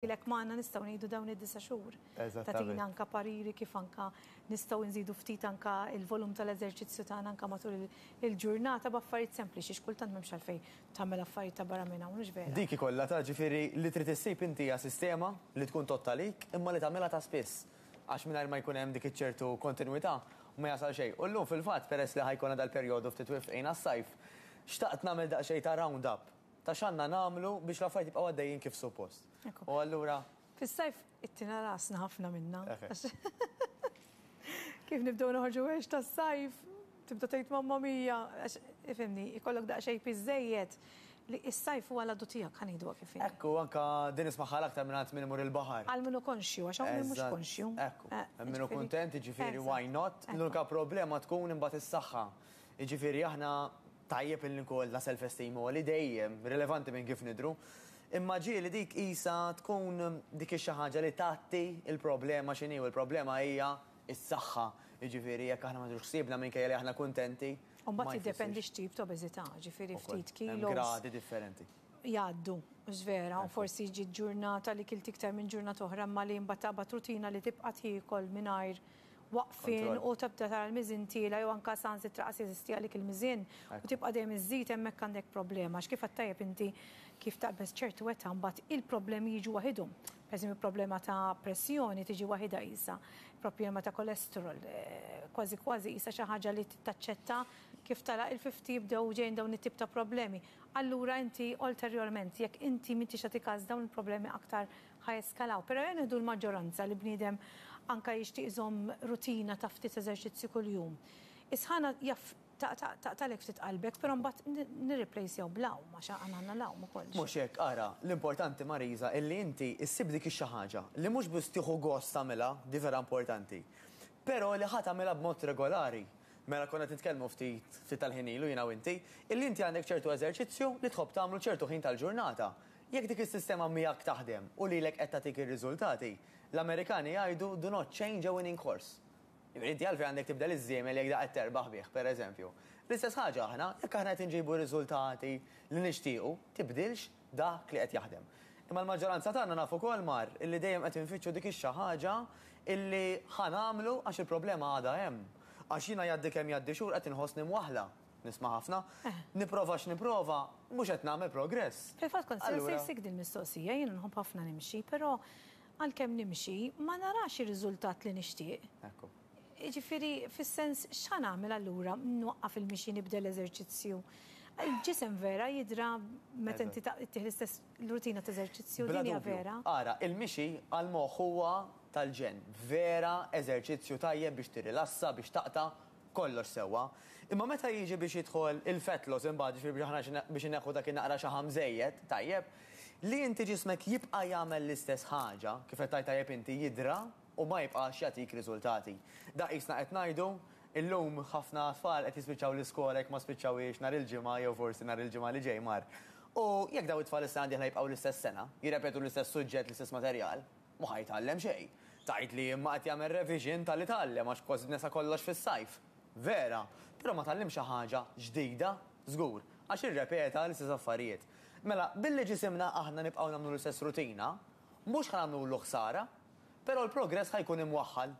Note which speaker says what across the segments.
Speaker 1: Ilek magħna nistgħu ngħidu dawn id-disa' xhur. Tagħtina anke pariri kif anke nistgħu nżidu ftit anke l-volum tal-eżerċizzju tagħna anke matul il-ġurnata b'affarijiet sempliċi x'kultant m'hemmx għalfejn tagħmel affarijiet ta' barra minn hawn, hux vera?
Speaker 2: Dik hi kollha ta' ġifieri li trid issib inti hija sistema li tkun tgħodd għalik imma li tagħmilha ta' spiss. Għax mingħajr ma jkun hemm dik iċ-ċertu kontinwità ma jasal xejn. U llum fil-fatt peress li ħa jkollna dal-perjodu ftit wifqin għas-sajf, xtaqt nagħmel daqsxejn ta' round up ta' x'għandna nagħmlu biex l-affarijiet jibqgħu għaddejjin kif suppost. U allura.
Speaker 1: Fis-sajf ittina rasna ħafna minna. Kif nibdew noħorġu għex tas-sajf, tibda tgħid mamma mia, għax ifhimni, ikollok daqsxejn piż żejjed li s-sajf huwa l-għadu tiegħek ħa ngħiduha kif inhi.
Speaker 2: Ekku, anke din nismagħha l-aktar mingħand min imur il-baħar.
Speaker 1: Għal min hu konxju, għax hawn min mhux konxju.
Speaker 2: Ekku, hemm min hu kuntent, jiġifieri why not? L-unika problema tkun imbagħad is-saħħa. Jiġifieri aħna Tajjeb illi nkollna self esteem għoli dejjem, rilevanti minn kif nidhru. Imma ġieli dik qisha tkun dik ix-xi ħaġa li tgħatti l-problema x'inhi u l-problema hija s-saħħa. Jiġifieri jekk aħna ma nieħdux ħsiebna minkejja li aħna kuntenti,
Speaker 1: U mbagħad jiddependi x'tip ta' obeżità, ġifieri ftit kilos.
Speaker 2: Hemm gradi differenti.
Speaker 1: Jgħaddu, mhux vera, u forsi ġiet ġurnata li kilt iktar minn ġurnata oħra imma li mbagħad taqbad rutina li tibqa' tiekol mingħajr waqfien u tibda tara l-miżien tiela' jew anke saħansitra qas jeżisti għalik il-miżien u tibqa' dejjem iżżid hemmhekk għandek problema għax kif għedt tajjeb inti kif taqbeż ċertu età mbagħad il-problemi jiġu waħidhom. Pereżempju problema ta' pressjoni tiġi waħidha qisha, problema ta' cholesterol, kważi kważi qisha xi ħaġa li taċċetta kif tagħlaq il-fifty jibdew ġejjin dawn it-tip ta' problemi. Allura inti ulterjorment jekk inti m'intix tagħti każ dawn il-problemi aktar ħa jeskalaw. Però ejja nieħdu l-maġġoranza li bniedem anke jixtieq iżomm rutina ta' ftit eżerċizzju kuljum. Is-sħana jaf taqtagħlek ftit qalbek, però mbagħad nirriplejsjaw bl-għawm għax aħna għandna l-għawm ukoll.
Speaker 2: Mhux hekk, ara, l-importanti Marisa illi inti ssib dik ix-xi ħaġa li mhux biss tieħu gost tagħmilha, di vera importanti, però li ħa tagħmilha b'mod regolari. Mela konna qed nitkellmu ftit ftit tal-ħin ilu jiena u inti, illi inti għandek ċertu eżerċizzju li tħobb tagħmlu ċertu ħin tal-ġurnata. Jekk dik is-sistema miegħek taħdem u lilek qed tagħtik ir-riżultati, l-Amerikani jgħidu do not change a winning horse. Jiġifieri inti għalfejn għandek tibdel iż-żiemel jekk da qed terbaħ bih, per eżempju. L-istess ħaġa aħna, jekk aħna qed inġibu riżultati li nixtiequ, tibdilx dak li qed jaħdem. Imma l-maġġoranza tagħna naf ukoll Mar, illi dejjem qed infittxu dik ix-xi ħaġa illi ħa nagħmlu għax il-problema għadha hemm. Għax jiena jgħaddi kemm jgħaddi xhur qed inħossni mwaħħla. Nisma' ħafna. Nipprova x'nipprova, mhux qed nagħmel progress.
Speaker 1: Fil-fatt kont se nsaqsik din il-mistoqsija, jiena nħobb ħafna nimxi, però għalkemm nimxi ma narax ir-riżultat li nixtieq.
Speaker 2: Ekku.
Speaker 1: Jiġifieri fis-sens x'ħa nagħmel allura? Nwaqqaf il-mixi, nibdel l-eżerċizzju? Il-ġisem vera jidra meta inti ttieħ l-istess rutina ta' eżerċizzju, din hija vera?
Speaker 2: Ara, il-mixi għall-moħħ huwa tal-ġenn. Vera eżerċizzju tajjeb biex tirrilassa, biex taqta' kollox sewwa. Imma meta jiġi biex jidħol il-fat loss imbagħad, jiġifieri biex aħna biex inneħħu dak in-naqra xaħam żejjed, tajjeb, li inti ġismek jibqa' jagħmel l-istess ħaġa, kif qed tgħid tajjeb inti, jidra u ma jibqax jagħtik riżultati. Dak qisna qed ngħidu, illum ħafna tfal qed jispiċċaw l-iskola jekk ma spiċċawhiex nhar il-Ġimgħa jew forsi nhar il-Ġimgħa li ġej mar. U jekk dawn it-tfal is-sena d-dieħla jibqgħu l-istess sena, jirrepetu l-istess suġġett, l-istess materjal, Mhu ħa jitgħallem xejn. Tgħidli imma qed jagħmel revision talli tgħallem għax kważi nesa kollox fis-sajf. Vera, però ma tgħallimx xi ħaġa ġdida, żgur, għax irrepeta l-istess affarijiet. Mela, billi ġisimna aħna nibqgħu nagħmlu l-istess rutina, mhux ħa nagħmlulu ħsara, però l-progress ħa jkun imwaħħal.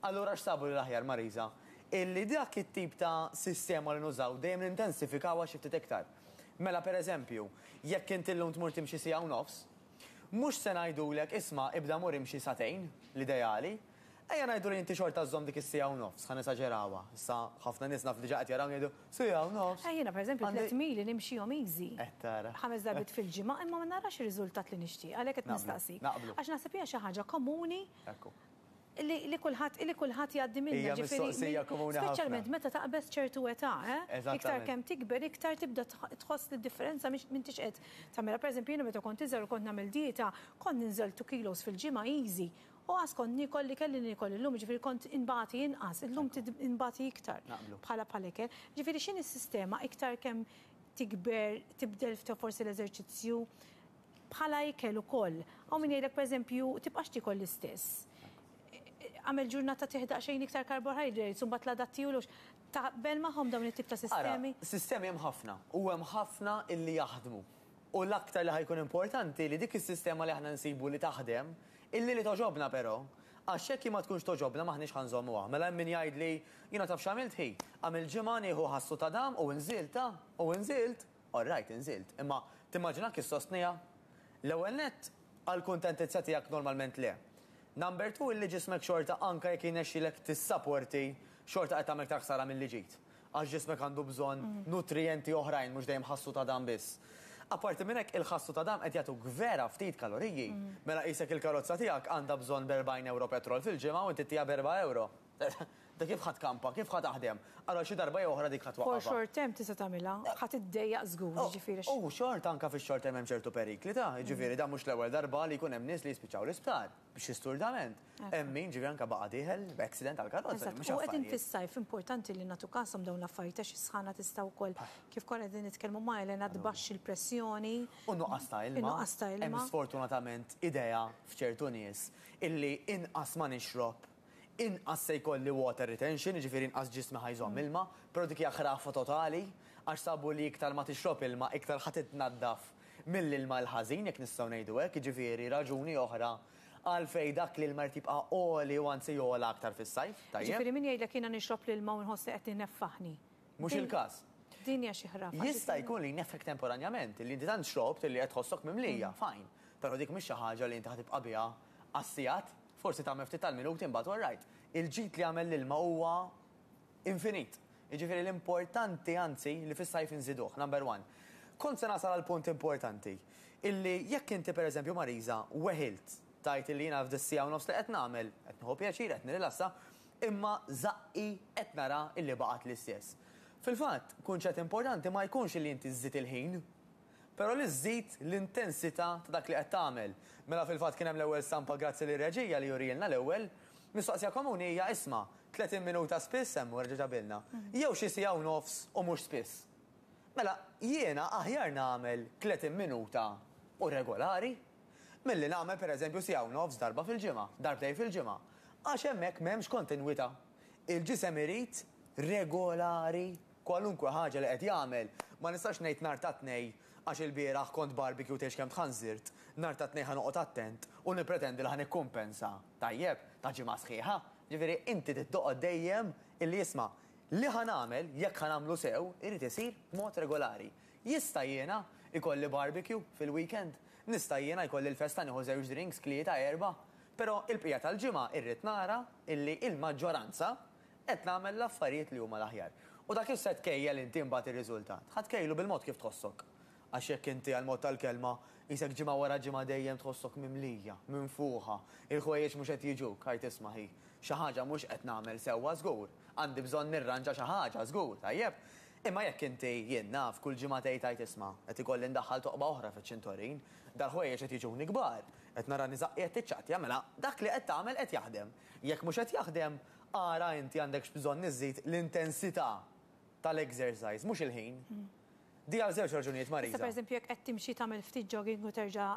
Speaker 2: Allura x'sabu li l-aħjar, Marisa? Illi dak it-tip ta' sistema li nużaw dejjem nintensifikawha xi ftit iktar. Mela, per eżempju, jekk inti llum tmur timxi siegħa u nofs, Mhux se ngħidulek, isma' ibda mur imxi sagħtejn, l-ideali. Ejja ngħidu li inti xorta żżomm dik is-siegħa u nofs, ħa nesaġerawha. Issa ħafna nies naf diġà qed jarawni jgħidu, siegħa u nofs?
Speaker 1: Eh jiena pereżempju tlett mili nimxihom easy.
Speaker 2: Qed tara.
Speaker 1: Ħames darbiet fil-ġimgħa imma ma narax ir-riżultat li nixtieq, għalhekk qed nistaqsik.
Speaker 2: Naqblu.
Speaker 1: Għax naħseb hija xi ħaġa komuni.
Speaker 2: Ekku.
Speaker 1: Li kulħadd li kulħadd jgħaddi minnha,
Speaker 2: Hija mistoqsija komuni ħafna.
Speaker 1: Speċjalment meta taqbeż ċertu età, eh?
Speaker 2: Eżattament.
Speaker 1: Iktar kemm tikber, iktar tibda tħoss li d-differenza mhix m'intix qed tagħmilha. Pereżempju jiena meta kont iżgħar u kont nagħmel dieta, kont ninżel two kilos fil-ġimgħa easy. U qas kont niekol li kelli niekol illum, jiġifieri kont inbati inqas, illum inbati iktar bħala bħala ikel. Jiġifieri x'inhi s-sistema iktar kemm tikber, tibdel forsi l-eżerċizzju, Bħala ikel ukoll. Hawn min jgħidlek pereżempju tibqax tiekol l-istess. Agħmel ġurnata tih daqsxejn iktar carbohydrates u mbagħad l-għada ttiehulux. Taqbel magħhom dawn it-tip ta' sistemi?
Speaker 2: Ara, sistemi hemm ħafna u hemm ħafna illi jaħdmu. U l-aktar li ħa jkun importanti li dik is-sistema li aħna nsibu li taħdem, illi li togħġobna però, għax jekk hi ma tkunx togħġobna m'aħniex ħa nżommuha. Mela hemm min jgħidli, jiena taf x'għamilt ħi? Għamilt ġimgħa nieħu ħassu ta' dam u nżilt, ah, u nżilt! All right, inżilt. Imma timmaġinak issostniha? L-ewwel nett, għall-kuntentizza tiegħek normalment le. Number two, illi ġismek xorta anke jekk jirnexxilek tissaporti, xorta qed tagħmel iktar ħsara milli ġid. Għax ġismek għandu bżonn nutrijenti oħrajn mhux dejjem ħassu ta' dam biss. Apparti minn hekk, il-ħassu ta' dam qed jagħtuk vera ftit kaloriji. Mela qisek il-karozza tiegħek għandha bżonn b'erbgħin ewro petrol fil-ġimgħa u inti ttiha b'erba' ewro. Da kif ħa tkampa, kif ħa taħdem? Allura xi darba jew oħra dik ħa
Speaker 1: For
Speaker 2: twaqqafha.
Speaker 1: short term tista' tagħmilha, ħa tiddejjaq żgur, jiġifieri għax.
Speaker 2: U xorta anke fix-short term hemm ċertu perikli ta', jiġifieri dan mhux l-ewwel darba li jkun hemm nies li jispiċċaw l-isptar b'xi sturdament. Hemm min ġifieri anke baqa' dieħel b'accident tal-karozza,
Speaker 1: Eżatt,
Speaker 2: mhux
Speaker 1: u qegħdin
Speaker 2: affarijiet.
Speaker 1: fis-sajf importanti li nagħtu kashom dawn l-affarijiet għax is-sħana tista' wkoll, kif konna qegħdin nitkellmu ma' Elena, tbaxxi l-pressjoni.
Speaker 2: U n-nuqqas ta' ilma.
Speaker 1: In-nuqqas ta'
Speaker 2: Hemm
Speaker 1: ilma.
Speaker 2: sfortunatament idea f'ċertu nies illi inqas ma nixrob, inqas se jkolli water retention, jiġifieri inqas ġismi ħa jżomm ilma, però dik hija ħrafa totali, għax sabu li iktar ma tixrob ilma iktar ħa titnaddaf mill-ilma l-ħażin, jekk nistgħu ngħidu hekk, jiġifieri raġuni oħra għalfejn dak l-ilma jrid jibqa' għoli u anzi jogħla aktar fis-sajf, tajjeb?
Speaker 1: Jiġifieri min jgħidlek jiena nixrob l-ilma u nħoss li qed ineffaħni.
Speaker 2: Mhux il-każ.
Speaker 1: Din hija xi ħrafa.
Speaker 2: Jista' jkun li jneffħek temporanjament, li inti tant xrobt li qed tħossok mimlija, fine. Però dik mhix xi ħaġa li inti ħa tibqa' biha għas-sigħat. Forsi tagħmel ftit tal-minuti imbagħad all right. Il-ġid li jagħmel l-ilma huwa infinit. Jiġifieri l-importanti anzi li fis-sajf inżiduh, number one. Kont se nasal għal punt importanti, illi jekk inti pereżempju Marisa weħilt tgħid illi jiena f'dis-siegħa u nofs li qed nagħmel, qed nieħu pjaċir, qed nirrilassa, imma żaqqi qed nara illi baqgħet l-istess. Fil-fatt, kunċett importanti ma jkunx illi inti żżid il-ħin, Però li żżid l-intensità ta' dak li qed tagħmel. Mela fil-fatt kien hemm l-ewwel stampa grazzi lir-reġija li urielna l-ewwel. Mistoqsija komuni hija isma', 30 minuta spiss hemm u reġa' ġabilna. Jew xi siegħa u nofs u mhux spiss. Mela jiena aħjar nagħmel 30 minuta u regolari milli nagħmel pereżempju siegħa u nofs darba fil-ġimgħa, darbtejn fil-ġimgħa. Għax hemmhekk m'hemmx kontinwità. Il-ġisem irid regolari. Kwalunkwe ħaġa li qed jagħmel, ma nistax ngħid nhar ta' Tnejn għax ilbieraħ kont barbecue tgħidx kemm tħanżirt, nhar ta' Tnejn ħa noqgħod attent u nippretendi li ħa nikkumpensa, tajjeb, ta' ġimgħa sħiħa. Ġifieri inti trid toqgħod dejjem illi isma' li ħa nagħmel, jekk ħa nagħmlu sew, irid isir b'mod regolari. Jista' jiena jkolli barbecue fil-weekend? Nista' jiena jkolli l-festa nieħu żewġ drinks, tlieta, erbgħa? Però il-bqija tal-ġimgħa irrid nara illi il-maġġoranza Qed nagħmel l-affarijiet li huma l-aħjar. U dak kif se tkejjel inti imbagħad ir-riżultat? Ħa tkejlu bil-mod kif tħossok. Għax jekk inti għall-mod tal-kelma, qisek ġimgħa wara ġimgħa dejjem tħossok mimlija, minfuħa, il-ħwejjeġ mhux qed jiġuk, għid isma' ħi, xi ħaġa mhux qed nagħmel sewwa żgur, għandi bżonn nirranġa xi ħaġa żgur, tajjeb? Imma jekk inti, jien naf, kull ġimgħa tgħid għid isma', qed ikolli ndaħħal toqba oħra fiċ-ċintorin, dal-ħwejjeġ qed jiġuni kbar, qed nara niżaqqi qed tiċċattja, mela dak li qed tagħmel qed jaħdem. Jekk mhux qed jaħdem, Ara inti għandekx bżonn iżżid l-intensità tal-exercise, mhux il-ħin. Di għal żewġ raġunijiet, Marisa.
Speaker 1: Issa pereżempju jekk qed timxi tagħmel ftit jogging u terġa'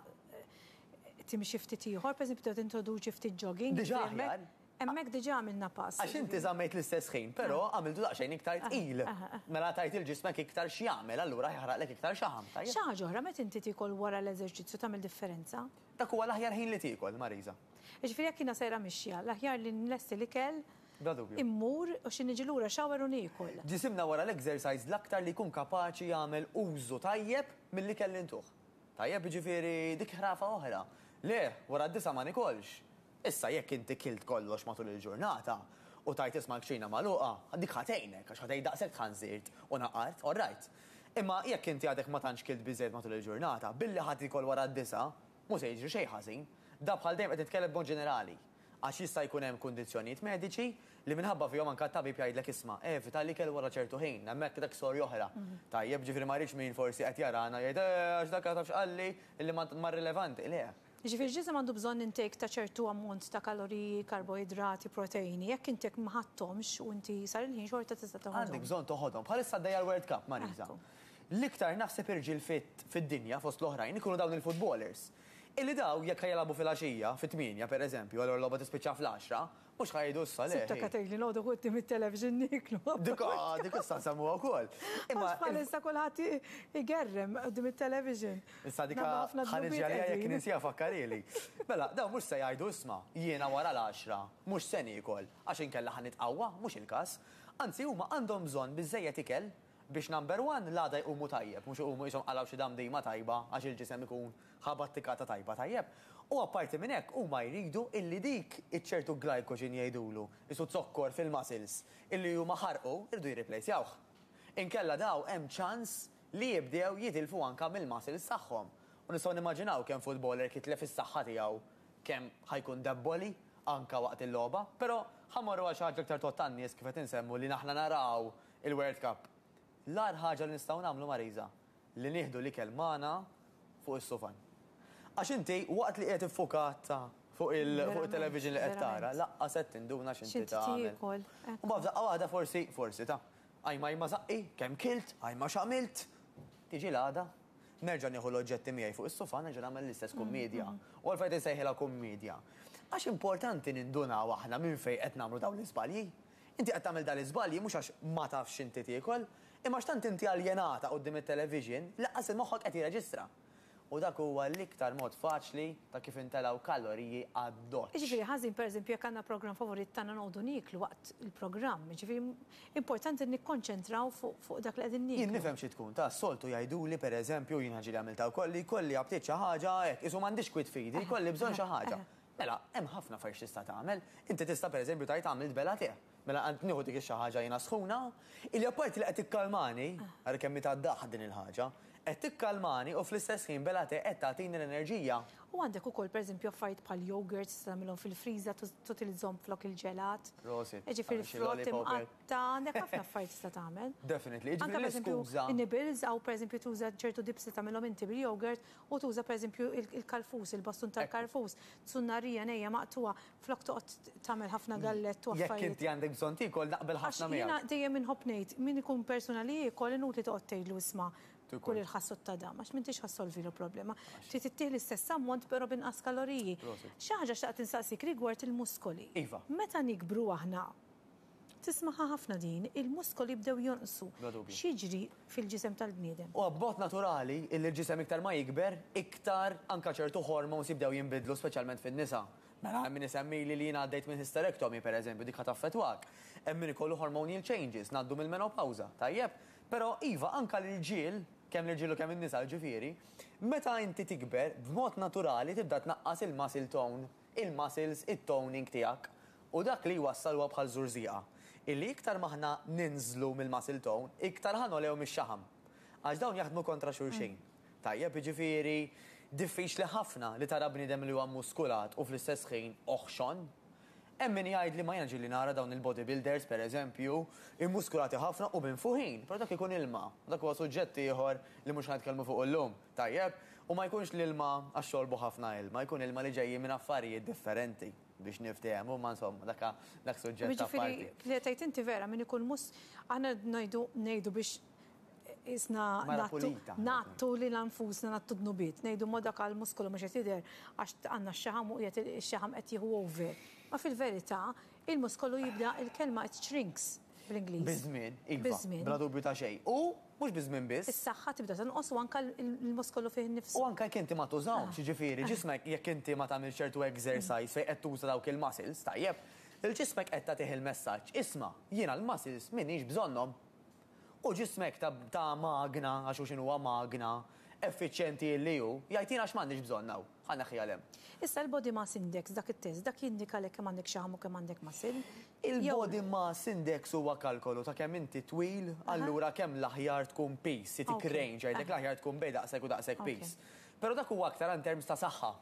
Speaker 1: timxi ftit ieħor, pereżempju tibda tintroduċi ftit jogging.
Speaker 2: Diġà aħjar.
Speaker 1: Hemmhekk diġà għamilna pass.
Speaker 2: Għax inti żammejt l-istess ħin, però għamiltu daqsxejn iktar tqil. Mela tajt lil ġismek iktar x'jagħmel, allura jaħraqlek iktar xaħam, tajjeb?
Speaker 1: Xi ħaġa oħra, meta inti tiekol wara l-eżerċizzju tagħmel differenza?
Speaker 2: Dak huwa l-aħjar ħin li tiekol, Marisa.
Speaker 1: Jiġifieri jekk jiena sejra mixja, l-aħjar li nlesti l-ikel,
Speaker 2: Bla dubju.
Speaker 1: immur u xi niġi lura shower u niekol.
Speaker 2: Ġisimna wara l-exercise l-aktar li jkun kapaċi jagħmel użu tajjeb mill-ikel li ntuh. Tajjeb, jiġifieri dik ħrafa oħra. Le, wara d-disgħa ma nikolx. Issa jekk inti kilt kollox matul il-ġurnata u tgħid isma' l-kċina magħluqa, dik ħa tgħinek għax ħa tgħid daqshekk tħanżirt u naqart, all right. Imma jekk inti għadek ma tantx kilt biżżejjed matul il-ġurnata, billi ħa tiekol wara d-disgħa, Mhu se jiġri xejn ħażin. Da bħal dejjem qed nitkellem b'mod ġenerali. Għax jista' jkun hemm kundizzjonijiet mediċi li minħabba fihom anke t-tabib jgħidlek isma' evita l-ikel wara ċertu ħin. Hemmhekk dak storja oħra. Tajjeb, ġifieri ma rridx min forsi qed jarana jgħid eh għax dak taf x'qalli illi ma rilevanti. Le.
Speaker 1: Jiġifieri l-ġisem għandu bżonn intake ta' ċertu ammont ta' kaloriji, karboidrati, proteini. Jekk inti ma ħadthomx u inti sar il-ħin xorta tista' toħodhom.
Speaker 2: Għandek bżonn toħodhom. Bħalissa għaddejja l-World Cup, Marisa. L-iktar naħseb irġiel fit fid-dinja fost l-oħrajn ikunu dawn il-footballers. Illi daw jekk ħa jilagħbu filgħaxija, fit-tmienja pereżempju, allura l-logħba tispiċċa fl-għaxra, mhux ħa jgħidu issa le.
Speaker 1: Sibta tgħidli noqogħdu quddiem it-television nieklu.
Speaker 2: Dik dik issa nsemmuha wkoll.
Speaker 1: Imma bħalissa kulħadd igerrem quddiem it-television.
Speaker 2: Issa dik ħa niġi għaliha jekk ninsiha fakkarhieli. Mela, dawn mhux se jgħidu isma' jiena wara l-għaxra mhux se niekol għax inkella ħa nitqawwa, mhux il-każ. Anzi huma għandhom bżonn biżżejjed ikel biex number one l-għada jqumu tajjeb, mhux iqumu qishom qalgħu xi damdima tajba għax il-ġisem ikun ħa battikata tajba tajjeb. U apparti minn hekk huma jridu illi dik iċ-ċertu glycogen jgħidulu, qisu zokkor fil-muscles, illi huma ħarqu, iridu jirriplejsjawh. Inkella daw hemm ċans li jibdew jitilfu anke mill-muscles tagħhom. U nistgħu nimmaġinaw kemm footballer jitlef is-saħħa tiegħu kemm ħa jkun debboli anke waqt il-logħba. Però ħa mmorru għal xi ħaġa iktar tgħodd għan-nies kif qed insemmu li aħna naraw il-World Cup. L-agħar ħaġa li nistgħu nagħmlu Marisa, li nieħdu l-ikel magħna fuq is-sufan. Għax inti waqt li qiegħed iffukat fuq il-television li qed tara, laqqas qed tinduna x'inti tagħmel. U mbagħad f'daqqa waħda forsi, forsi ta', ajma ajma żaqqi, kemm kilt, ajma x'għamilt. Tiġi l-għada, nerġa' nieħu l-oġġetti miegħi fuq is-sufan nerġa' nagħmel l-istess kummiedja. U għalfejn qed insejħilha kummiedja? Għax importanti nindunaw aħna minn fejn qed nagħmlu dawn l-iżbalji. Inti qed tagħmel dan l-iżbalji mhux għax ma tafx x'inti tiekol, imma għax tant inti aljenata quddiem it-television li lanqas il-moħħok qed jirreġistra. U dak huwa l-iktar mod faċli ta' kif intelgħu kaloriji għad-doċċ.
Speaker 1: Jiġifieri ħażin pereżempju jekk għandna programm favorit tagħna noqogħdu nieklu waqt il-programm, jiġifieri importanti li nikkonċentraw fuq dak li qegħdin nieklu.
Speaker 2: Jien nifhem xi tkun ta' s-soltu jgħiduli pereżempju, jiena ġieli għamiltha wkoll, li jkolli aptit xi ħaġa hekk, qisu m'għandix kwiet f'idi, jkolli bżonn xi ħaġa. Mela, hemm ħafna affarijiet x'tista' tagħmel. Inti tista' pereżempju tgħid għamilt bela te. Mela qed nieħu dik ix-xi ħaġa jiena sħuna, illi apparti li qed tikkalmani, ara kemm hi tad-daħq din il-ħaġa, qed tikkalmani u fl-istess ħin bela te qed tagħtini l-enerġija.
Speaker 1: U għandek ukoll pereżempju affarijiet bħal yogurts tista' tagħmilhom fil-friża tutilizzhom flok il-ġelat.
Speaker 2: Prosit.
Speaker 1: Jiġifieri frott imqatta', għandek ħafna affarijiet tista' tagħmel.
Speaker 2: Definitely. Jiġifieri l-iskuża.
Speaker 1: Anke pereżempju nibbles hawn pereżempju tuża ċertu dips li tagħmilhom inti bil-yogurt U tuża pereżempju il-karfus, il-bastun tal-karfus, zunnarija nejja maqtugħa, flok toqgħod tagħmel ħafna gallett u
Speaker 2: affarijiet. Jekk inti għandek bżonn tiekol naqbel ħafna
Speaker 1: miegħek. Għax jiena dejjem inħobb ngħid, min ikun persuna li jiekol inutli toqgħod tgħidlu isma' kul il-ħass u t-tadam, għax m'intix ħa ssolvilu l-problema. Trid ittih l-istess ammont però b'inqas kaloriji. Xi ħaġa xtaqt insaqsik rigward il-muskoli.
Speaker 2: Iva.
Speaker 1: Meta nikbru aħna, Tismagħha ħafna din, il-muskoli jibdew jonqsu.
Speaker 2: Bla dubju.
Speaker 1: X'jiġri fil-ġisem tal-bniedem?
Speaker 2: Huwa b'mod naturali illi l-ġisem iktar ma jikber, iktar anke ċertu hormones jibdew jinbidlu speċjalment fin-nisa. Mela hemm min isemmili li jiena għaddejt minn hysterectomy pereżempju, dik ħa taffettwak. Hemm min ikollu hormonial changes, ngħaddu mill-menopawża, tajjeb? Però iva anke l-irġiel, kemm l-irġiel u kemm in-nisa jiġifieri, meta inti tikber b'mod naturali tibda tnaqqas il-muscle tone il-muscles, it-toning tiegħek. U dak li jwassal huwa bħal żurżieqa. Illi iktar m'aħna ninżlu mill-muscle tone, iktar ħa nogħlew mix-xaħam. Għax dawn jaħdmu kontra xulxin. Tajjeb, jiġifieri diffiċli ħafna li tara bniedem li huwa mmuskulat u fl-istess ħin oħxon. Hemm min jgħidli ma jiena ġieli nara dawn il-bodybuilders, per eżempju, immuskulati ħafna u minfuħin, però dak ikun ilma. Dak huwa suġġett ieħor li mhux ħa nitkellmu fuqu llum. Tajjeb? U ma jkunx l-ilma għax xorbu ħafna ilma, jkun ilma li ġejjin minn affarijiet differenti biex niftehmu, imma insomma, dak dak suġġett apparti.
Speaker 1: Jiġifieri, li qed tgħid inti vera, min ikun mus, aħna ngħidu ngħidu biex qisna
Speaker 2: Mara
Speaker 1: ngħattu
Speaker 2: pulita.
Speaker 1: ngħattu lilna nfusna ngħattu dnubiet, ngħidu ma dak għal muskolu mhux qed jidher għax għandna x-xaħam u qiegħed ix-xaħam qed jieħu over. Ma fil-verità, il-muskolu jibda il-kelma it shrinks. bl-Ingliż.
Speaker 2: Biż-żmien, iva.
Speaker 1: Biż-żmien.
Speaker 2: Bla dubju ta' xejn. U mhux biż-żmien biss.
Speaker 1: Is-saħħa tibda tonqos u anke l-muskolu fih innifsu.
Speaker 2: U anke jekk inti ma tużahomx, jiġifieri ġismek jekk inti ma tagħmilx ċertu exercise fejn qed tuża dawk il-muscles, tajjeb, il-ġismek qed tagħtih il-messaġġ, isma' jiena l-muscles m'iniex bżonnhom. U ġismek ta' ta' magna, għax hu x'inhuwa magna, effiċjenti illi hu, jgħid jien għax m'għandix bżonn hawn, ħa neħħiha 'l hemm.
Speaker 1: Issa l-body mass index, dak it-test, dak jindikalek kemm għandek xaħam u kemm għandek muscle?
Speaker 2: Il-body mass index huwa kalkolu ta' kemm inti twil, allura kemm l-aħjar tkun piż, jtik range, jgħidlek l-aħjar tkun bejn daqshekk u daqshekk piż. Però dak huwa aktar in terms ta' saħħa.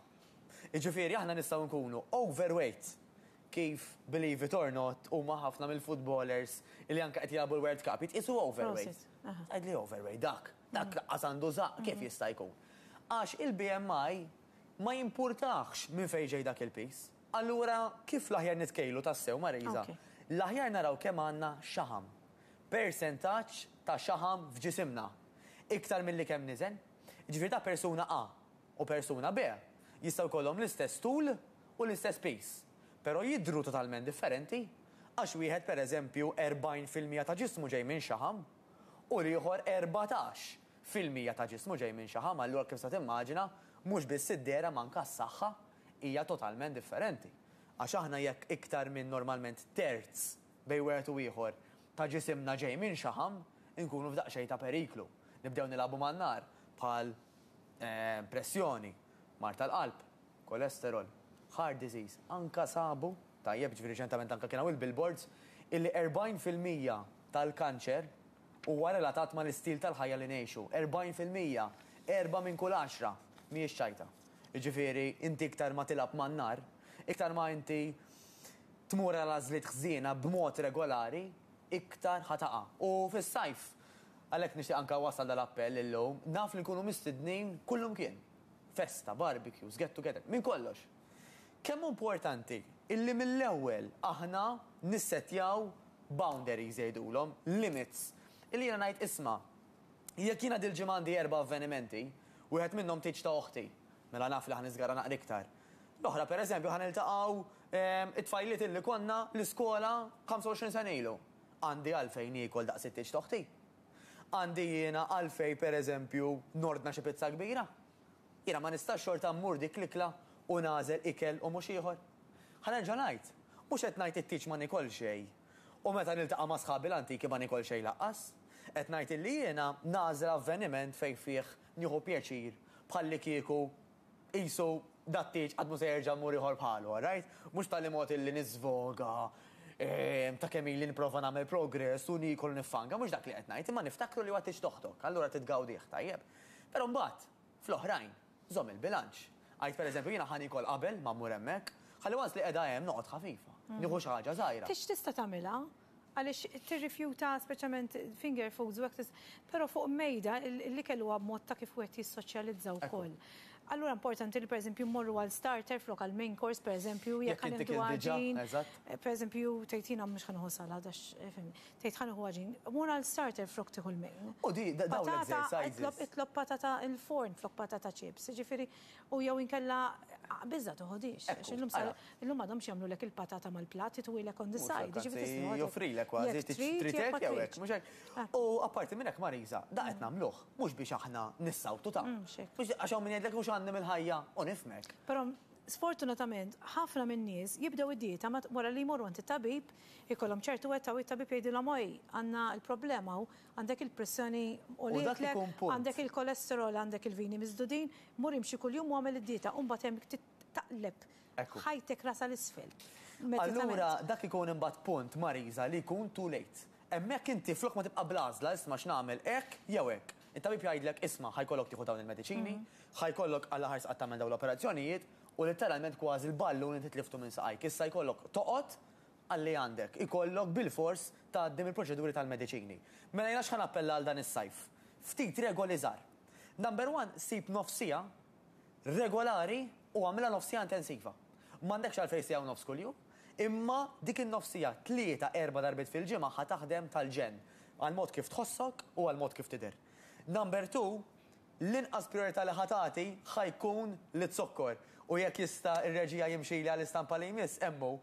Speaker 2: Jiġifieri aħna nistgħu nkunu overweight, kif believe it or not huma ħafna mill-footballers li anke qed jilagħbu l-World Cup jitqiesu overweight. Tgħidli overweight dak, dak lanqas għandu żaqq, kif jista' jkun? Għax il-BMI ma jimpurtahx minn fejn ġej dak il-piż. Allura kif l-aħjar nitkejlu tassew, Marisa? L-aħjar naraw kemm għandna xaħam. Persentaġġ ta' xaħam f'ġisimna. Iktar milli kemm niżen. Jiġifieri ta' persuna A u persuna B. Jistgħu jkollhom l-istess tul u l-istess piż, però jidhru totalment differenti għax wieħed pereżempju 40% ta' ġismu ġej minn xaħam u l-ieħor 14% ta' ġismu ġej minn xaħam, allura kif tista' timmaġina mhux biss id-dehra ma anke s-saħħa hija totalment differenti. Għax aħna jekk iktar minn normalment terz bejn wieħed u ieħor ta' ġisimna ġej minn xaħam, inkunu f'daqsxejn ta' periklu. Nibdew nilagħbu man-nar bħal pressjoni, mard tal-qalb, kolesterol, heart disease, anka sabu, tajjeb, ġifieri riċentament anka kien hawn il-billboards, illi 40% tal-kanċer huwa relatat mal-istil tal-ħajja li ngħixu. 40%, erbgħa minn kull għaxra, mhijiex ċajta. Jiġifieri inti iktar ma tilgħab man-nar, iktar ma inti tmur għal għażliet ħżiena b'mod regolari, iktar ħa taqa'. U fis-sajf, għalhekk nixtieq anke nwassal dal-appell illum, naf li nkunu mistednin kullumkien. Festa, barbecues, get together, minn kollox. Kemm hu importanti illi mill-ewwel aħna nissettjaw boundaries jgħidulhom, limits, illi jiena ngħid isma' jekk jiena dil-ġimgħa għandi erba' avvenimenti, wieħed minnhom tieġ ta' oħti, mela naf li ħa niżgara naqra iktar. L-oħra pereżempju ħa niltaqgħu it-tfajliet illi konna l-iskola 25 sena ilu. Għandi għalfejn niekol daqs it-tieġ t'oħti? Għandi jiena għalfejn pereżempju nordna xi pizza kbira? Jiena ma nistax xorta mmur dik l-ikla u nagħżel ikel u mhux ieħor? Ħa nerġa' ngħid, mhux qed ngħid it-tieġ ma niekol xejn u meta niltaqa' ma' sħabi l-antiki ma niekol xejn lanqas. Qed ngħid illi jiena nagħżel avveniment fejn fih nieħu pjaċir bħallikieku qisu dat-tieġ qatt mhu se jerġa' mmur ieħor bħalu, all right? Mhux b'tali mod illi niżvoga ta' kemm ili nipprova nagħmel progress u niekol u niffanka, mhux dak li qed ngħid, imma niftakru li huwa tieġ t'oħtok, allura trid tgawdih, tajjeb? Però mbagħad, fl-oħrajn, żomm il-bilanċ. Għid pereżempju jiena ħa niekol qabel ma mmur hemmhekk, ħalli once li qiegħda hemm noqgħod ħafifa, nieħu xi ħaġa żgħira.
Speaker 1: Tieġ tista' tagħmilha, Għaliex tirrifjuta speċjalment finger foods u hekk però fuq mejda l-ikel huwa mod ta' kif wieħed jissoċjalizza wkoll. Allura importanti li pereżempju mmorru għal starter flok għal main course pereżempju jekk ħa nieħdu għaġin. Pereżempju tgħid jiena mhux ħa nieħu salad għax fimni. Tgħid ħa nieħu għaġin, mur għal starter flok tieħu l-main.
Speaker 2: U di dawn l-exercises.
Speaker 1: Itlob patata il-forn flok patata chips, jiġifieri u jew inkella biża' toħodhiex. Għax illum sar Illum m'għadhomx jagħmlulek il-patata mal-platt, itwilek on the side, jiġifieri tista'
Speaker 2: Anzi, joffrilek kważi, trid hekk jew hekk, mhux hekk? U apparti minn hekk Marisa, da qed nagħmluh mhux biex aħna nissawtu ta'. Għax hawn min jgħidlek mhux għandi mill-ħajja u nifhmek.
Speaker 1: Però sfortunatament ħafna min-nies jibdew id-dieta wara li jmorru għand it-tabib, ikollhom ċertu età u t-tabib jgħidilhom oj, għandna l-problema hawn, għandek il-pressjoni għoliet, għandek il-kolesterol, għandek il-vini miżdudin, mur imxi kuljum u agħmel id-dieta u mbagħad hemm taqleb ħajtek rasha 'l isfel.
Speaker 2: Allura dak ikun imbagħad punt, Marisa, li jkun too late. Hemmhekk inti flok ma tibqa' bl-għażla, isma' x'nagħmel, hekk jew hekk. It-tabib jgħidlek, isma' ħa jkollok tieħu dawn il-mediċini, ħa jkollok Alla ħares qatt tagħmel dawn l-operazzjonijiet u litteralment kważi l-ballun inti tliftu minn saqajk. Issa jkollok toqgħod għal li għandek. Ikollok bilfors tgħaddi mill-proċeduri tal-mediċini. Mela jiena x'ħa nappella għal dan is-sajf? Ftit regoli żgħar. Number one, sib nofs siegħa regolari u agħmilha nofs siegħa intensiva. M'għandekx għalfejn siegħa u nofs kuljum, imma dik in-nofs siegħa tlieta, erba' darbiet fil-ġimgħa ħa taħdem tal-ġenn għall-mod kif tħossok u għall-mod kif tidher. Number two, l-inqas prijorità li ħa tagħti ħa jkun liz-zokkor. U jekk jista' r-reġija jimxili għall-istampa li jmiss, hemm hu.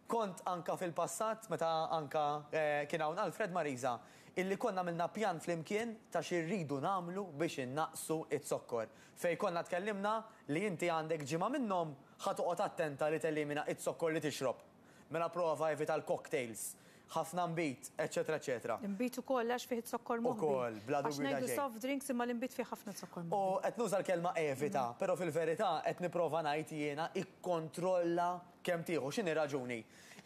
Speaker 2: Kont anka fil-passat, meta anka kien hawn Alfred Marisa, illi konna għamilna pjan flimkien ta' xi rridu nagħmlu biex innaqqsu z-zokkor. Fejn konna tkellimna li inti għandek ġimgħa minnhom ħa toqgħod attenta li telimina z-zokkor li tixrob. Mela prova evita l-cocktails, ħafna nbid, eċċetera eċċetera.
Speaker 1: L-inbid ukoll għax fih iz-zokkor moħbi.
Speaker 2: Ukoll, bla dubju ta' xejn.
Speaker 1: Għax ngħidu soft drinks imma l-inbid fih ħafna zokkor moħbi.
Speaker 2: U qed nuża l-kelma evita, però fil-verità qed nipprova ngħid jiena ikkontrolla kemm tieħu. X'inhi r-raġuni?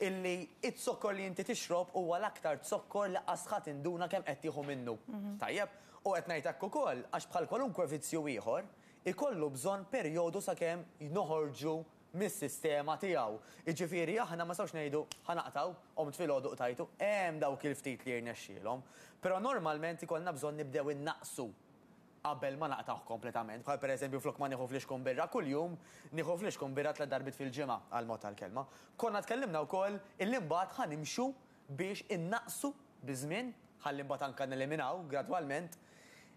Speaker 2: Illi z-zokkor li inti tixrob huwa l-aktar zokkor li qas ħa tinduna kemm qed tieħu minnu. Tajjeb? U qed ngħid hekk ukoll għax bħal kwalunkwe vizzju ieħor, ikollu bżonn perjodu sakemm noħorġu mis-sistema tiegħu. Jiġifieri aħna ma nistgħux ngħidu ħa naqtgħu, qomt filgħodu qtajtu, hemm dawk il-ftit li jirnexxielhom. Però normalment ikollna bżonn nibdew innaqqsu qabel ma naqtgħuh kompletament. Bħal pereżempju flok ma nieħu flixkun birra kuljum, nieħu flixkun birra tliet darbiet fil-ġimgħa, għall-mod tal-kelma. Konna tkellimna wkoll illi mbagħad ħa nimxu biex innaqqsu biż-żmien, ħalli mbagħad anke neliminaw gradwalment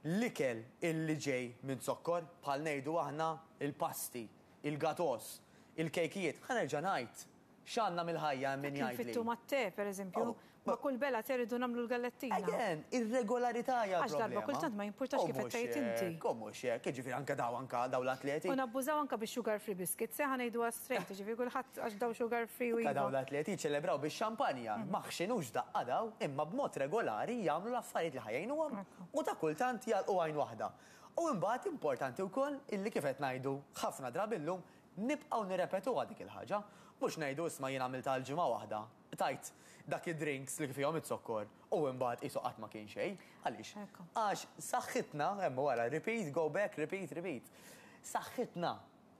Speaker 2: l-ikel illi ġej minn zokkor, bħal ngħidu aħna l-pasti. il-gatos, il-kejkijiet, ħa nerġa' ngħid, x'għandna mill-ħajja hemm min
Speaker 1: Dak
Speaker 2: jgħidli.
Speaker 1: infittu mat-te, pereżempju.
Speaker 2: Oh,
Speaker 1: Ma' kull bela te rridu nagħmlu l-gallettina.
Speaker 2: Again, ir-regolarità hija
Speaker 1: Għax darba
Speaker 2: l-problema.
Speaker 1: kultant ma jimpurtax
Speaker 2: U
Speaker 1: kif qed
Speaker 2: mhux
Speaker 1: tgħid inti.
Speaker 2: hekk, u mhux hekk, jiġifieri anke daw anke daw l-atleti.
Speaker 1: U nabbużaw anke bix-sugar free biscuits, eh, ħa ngħiduha straight, jiġifieri kulħadd għax daw sugar free u
Speaker 2: Anke daw
Speaker 1: iva.
Speaker 2: l-atleti jiċċelebraw bix-xampanja, ma ħxinux daqqa daw, imma b'mod regolari jagħmlu l-affarijiet li ħa jgħinuhom u ta' kultant jagħlqu għajn waħda. U imbagħad importanti wkoll illi kif qed ngħidu ħafna drabi llum nibqgħu nirrepetuha dik il-ħaġa. Mhux ngħidu isma' jien għamiltha għal ġimgħa waħda, tajt dak id-drinks li fihom iz-zokkor u imbagħad qisu qatt ma kien xejn. Għaliex? Għax saħħitna, hemm wara, repeat, go back, repeat, repeat. Saħħitna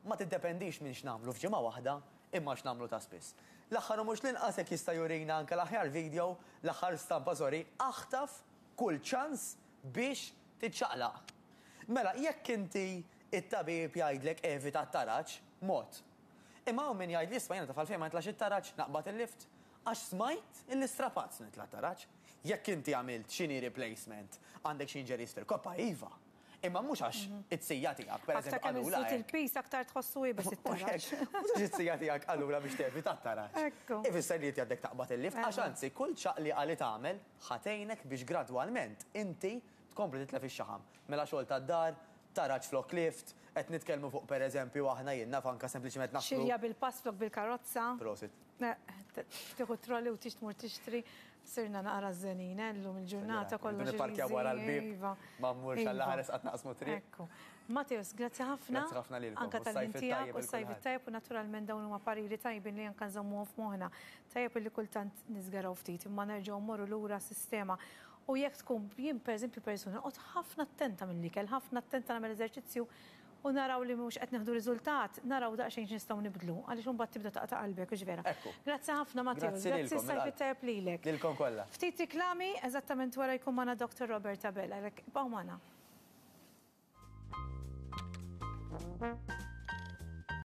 Speaker 2: ma tiddependix minn x'nagħmlu f'ġimgħa waħda imma x'nagħmlu ta' spiss. L-aħħar u mhux l-inqas jekk jista' jurina anke l-aħjar video, l-aħħar stampa sorry, aħtaf kull ċans biex tiċċaqlaq. Mela jekk inti it-tabib jgħidlek evita t-taraġ, mod. Imma hawn min jgħidli isma' jiena taf għalfejn ma nitlax it-taraġ, naqbad il-lift. Għax smajt illi strapazz nitla' t-taraġ. Jekk inti għamilt xi knee replacement, għandek xi injuries fil-koppa, iva. Imma mhux għax it-sija tiegħek, per
Speaker 1: Aktar
Speaker 2: eżempju,
Speaker 1: kemm
Speaker 2: qalula
Speaker 1: iżżid
Speaker 2: hekk.
Speaker 1: il-piż aktar tħossu iebes it-taraġ.
Speaker 2: Mhux għax it-sija tiegħek qalula biex tevita t-taraġ.
Speaker 1: Ekku.
Speaker 2: Ifisser li inti għandek taqbad il-lift, għax anzi kull ċaqliqa li tagħmel ħa tgħinek biex gradwalment inti tkompli titlef ix-xaħam. Mela xogħol tad-dar, taraġ flok lift, qed nitkellmu fuq pereżempju aħna jien naf anke sempliċement naħsbu.
Speaker 1: Xirja bil-pass flok bil-karozza.
Speaker 2: Prosit.
Speaker 1: Tieħu trolley u tix tmur tixtri. Sirna naqra żenin, eh, llum il-ġurnata kollox.
Speaker 2: Nipparkjaw wara l-bieb.
Speaker 1: Iva.
Speaker 2: Ma mmurx għall ħares qatt naqsmu triq.
Speaker 1: Ekku. Matteus, grazzi ħafna.
Speaker 2: Grazzi ħafna lilkom.
Speaker 1: Anka tal-ħin tiegħek u s-sajf it-tajjeb u naturalment dawn huma pariri tajbin li anka nżommuhom f'moħħna. Tajjeb li kultant niżgaraw ftit imma nerġgħu mmorru lura sistema. U jekk tkun jien pereżempju persuna noqgħod ħafna attenta mill-ikel, ħafna attenta nagħmel eżerċizzju u naraw li mhux qed nieħdu riżultat, naraw daqsxejn x'nistgħu nibdlu, għaliex imbagħad tibda taqta' qalbek, hux vera?
Speaker 2: Ekku.
Speaker 1: Grazzi ħafna Matteus,
Speaker 2: Grazzi
Speaker 1: grazzi
Speaker 2: lilkom,
Speaker 1: s-sajf it-tajjeb lilek.
Speaker 2: Lilkom kollha.
Speaker 1: Ftit riklami, eżattament wara jkun magħna Dr. Robert Abela, għalhekk ibqgħu magħna.